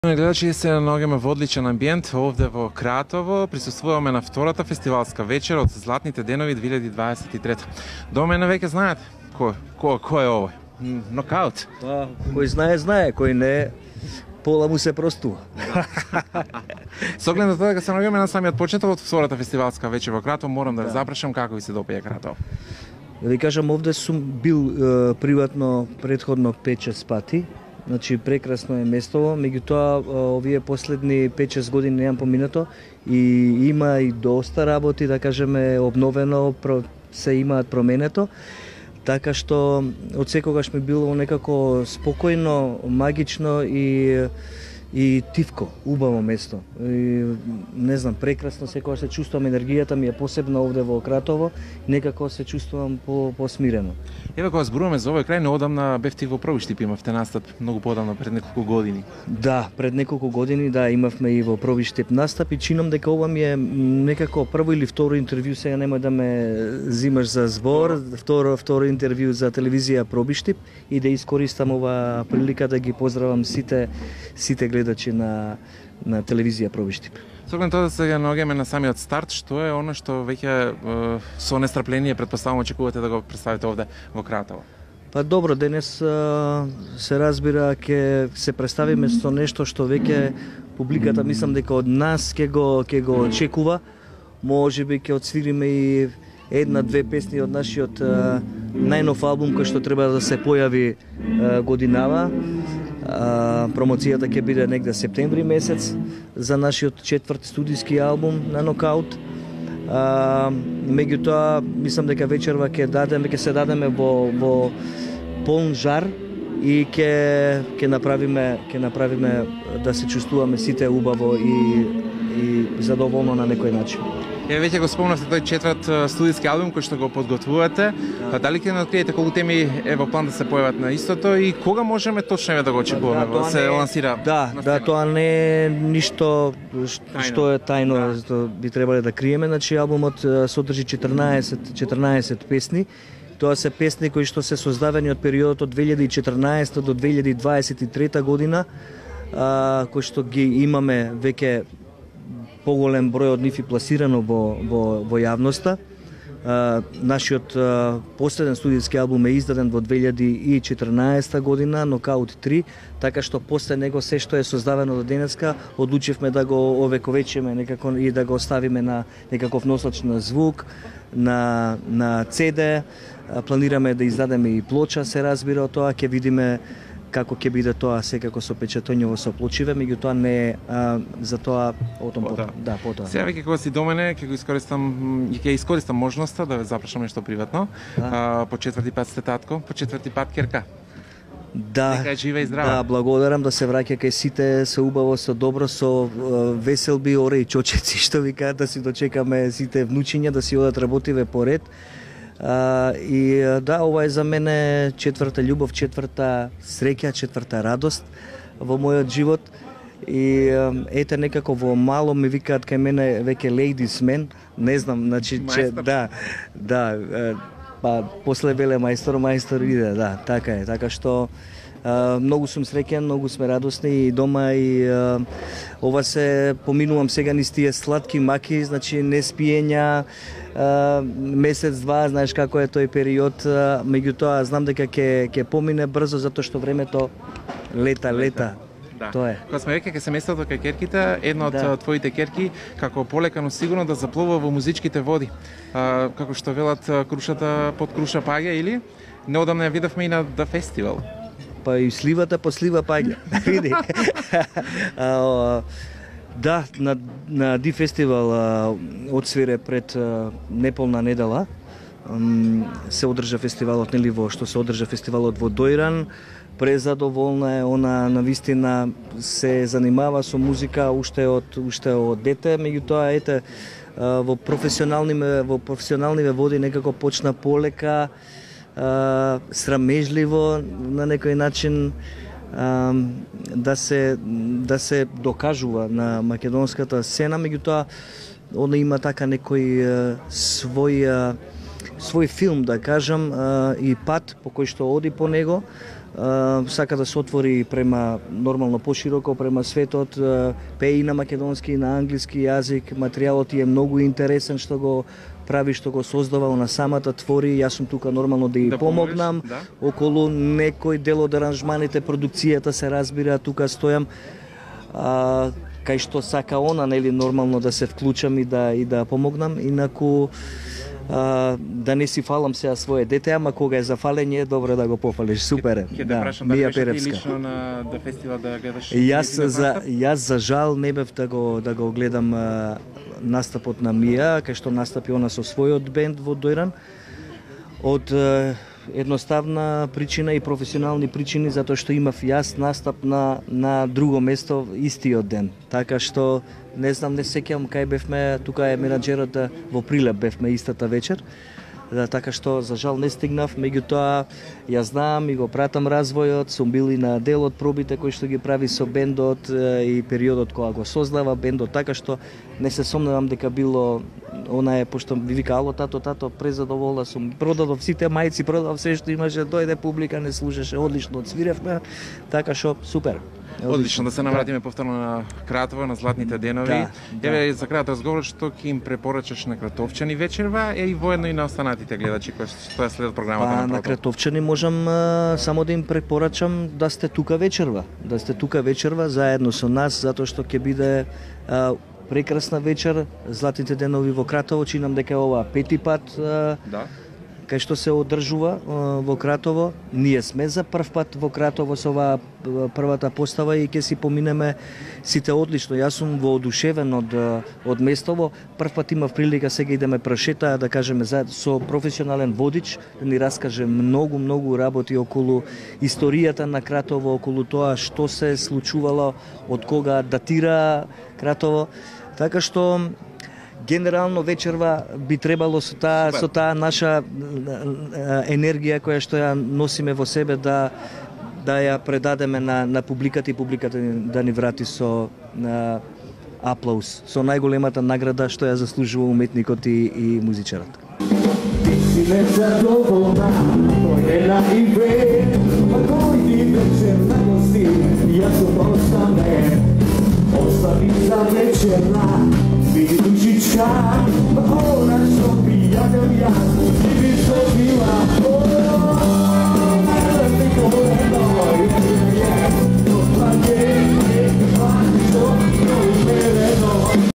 Гледачи, се наоѓаме во одличен амбиент овде во Кратово. Присуствуваме на втората фестивалска вечер од Златните денови 2023. До мене веќе знаете кој е овој? Нокаут. Па, кој знае, кој не, пола му се простува. Со оглед на тоа дека се наоѓаме на самиот почеток од втората фестивалска вечер во Кратово, морам да ве запрашам како ви се допаѓа Кратово. Да ви кажам, овде сум бил приватно предходно 5-6 пати. Значи прекрасно е местово, меѓутоа овие последни 5-6 години немам поминато и има и доста работи, да кажеме, обновено, се имаат променето. Така што од секогаш ми било некако спокојно, магично и тивко, убаво место. И, не знам, прекрасно секогаш се чувствувам, енергијата ми е посебна овде во Кратово, некако се чувствувам посмирено. Еве кога зборуваме за овој крај, неодамна бевте во Пробиштип, имавте настап многу подамна, пред неколку години. Да, пред неколку години имавме и во Пробиштип настап и чинам дека ова ми е некако прво или второ интервју, сега немој да ме зимаш за збор, второ интервју за телевизија Пробиштип и да искористам ова прилика да ги поздравам сите гледачи на телевизија Пробиштип. Со оглед тоа да се наоѓаме на самиот старт, што е оно што веќе со нестрпление претпоставувам очекувате да го представите овде во Кратово? Па добро, денес се разбира ќе се представиме со нешто што веќе публиката мислам дека од нас ќе го очекува. Можеби ќе отсвириме и една-две песни од нашиот најнов албум кој што треба да се појави годинава. Промоцијата ќе биде негде септември месец за нашиот четврти студиски албум на Нокаут. Меѓутоа, мислам дека вечерва ќе се дадеме во полн жар и ќе направиме да се чувствуваме сите убаво и задоволно на некој начин. Веќе го спомнавте тој четврт студиски албум кој што го подготвувате. Дали ќе откриете колку теми е во план да се појават на истото и кога можеме точно да го очекуваме да се лансира? Да, тоа не е ништо што е тајно, што би требале да криеме. Значи албумот содржи 14 песни. Тоа се песни кои што се создадени од периодот од 2014 до 2023 година, кои што ги имаме веќе поголем број од нив и пласирано во јавноста. Нашиот последен студиски албум е издаден во 2014 година, Нокаут 3, така што после него се што е создадено до денеска, одлучивме да го овековечиме некако и да го оставиме на некаков носач на звук, на CD. Планираме да издадеме и плоча, се разбира од тоа, ќе видиме како ќе биде тоа секако со печатоњево со плочиве, меѓутоа не е за тоа потом. Да, потоа. Сега веќе кога си до мене, ќе искористам можноста да ве запрашам нешто приватно. По четврти пат сте татко, по четврти пат ќерка. Да. Нека жива и здрава. Да, благодарам, да се враќа кај сите со убаво, со добро, со веселби, оре и чочеци, што викаат, да си дочекаме сите внучиња, да си одат работиве поред. И да, ова е за мене четврта љубов, четврта среќа, четврта радост во мојот живот. И ете некако во мало ми викаат кај мене веќе ladies man, не знам, значи че па после веле мајстор иде, да, така е, така што многу сум среќен, многу сме радосни и дома и ова се поминувам сега низ тие сладки маки, значи не спиења, месец-два, знаеш како е тој период, меѓутоа знам дека ќе помине брзо затоа што времето лета. Да. Тоа е. Кога сме веќе кај семејството кај ќерките, една од твоите ќерки како полекано сигурно да заплува во музичките води. Како што велат, крушата под круша паѓа или неодамна ја видовме и на The Festival. Па и сливата по слива паѓа. Види. Да, на Ди Фестивал одсвире пред неполна недела. Се одржа фестивалот, нели што се одржа фестивалот во Дојран. Презадоволна е, она навистина се занимава со музика уште од дете, меѓутоа ете во професионалниве води некако почна полека, срамежливо на некој начин да се докажува на македонската сцена, меѓутоа она има така некој свој филм, да кажам, и пат по кој што оди по него, сака да се отвори према нормално пошироко према светот, пее и на македонски и на англиски јазик, материјалот е многу интересен што го прави, што го создава на самата твори. Јас сум тука нормално да ја помогнам, да? Околу некој дел од аранжманите, продукцијата се разбира, тука стојам. Кај што сака она, нели, нормално да се вклучам и да помогнам, инаку да не си фалам сега свое дете, ама кога е за фалење, добро да го пофалиш. Супер е. Ќе те прашам да беше лично на фестивал да гледаш. Јас за жал не бев да го гледам настапот на Мија, кај што настапи она со својот бенд во Дојран. Од едноставна причина и професионални причини, затоа што имав јас настап на друго место истиот ден. Така што не знам, не сеќавам кај бевме, тука е менаџерот, во Прилеп бевме истата вечер. Така што за жал не стигнав, меѓутоа ја знам и го пратам развојот, сум бил и на дел од пробите кои што ги прави со бендот и периодот кога го создава бендот, така што не се сомневам дека било она е, пошто ви вика, ало тато, презадоволна сум, продадов сите мајци, продадов се што имаше, дојде публика, не слушаше, одлично одсвиревме, така што супер. Одлично, да се навратиме повторно на Кратово, на златните денови. Еве за крајот разговор, што ќе им препорачаш на Кратовчани вечерва и воедно и на останатите гледачи кои што следат програмата на Кратовчани можам само да им препорачам да сте тука вечерва, заедно со нас, затоа што ќе биде прекрасна вечер, златните денови во Кратово, чинам дека ова пети пат кај што се одржува во Кратово. Ние сме за прв пат во Кратово со оваа првата постава и ќе си поминеме сите одлично. Јас сум воодушевен од местово. Прв пат имав прилика, сега идеме прошета, да кажеме со професионален водич, да ни раскаже многу работи околу историјата на Кратово, околу тоа што се случувало, од кога датира Кратово. Така што генерално вечерва би требало со таа наша енергија која што ја носиме во себе да ја предадеме на публиката и публиката да ни врати со аплауз, со најголемата награда што ја заслужува уметникот и музичарот. Ostavi za večerna, vidi dušička, ona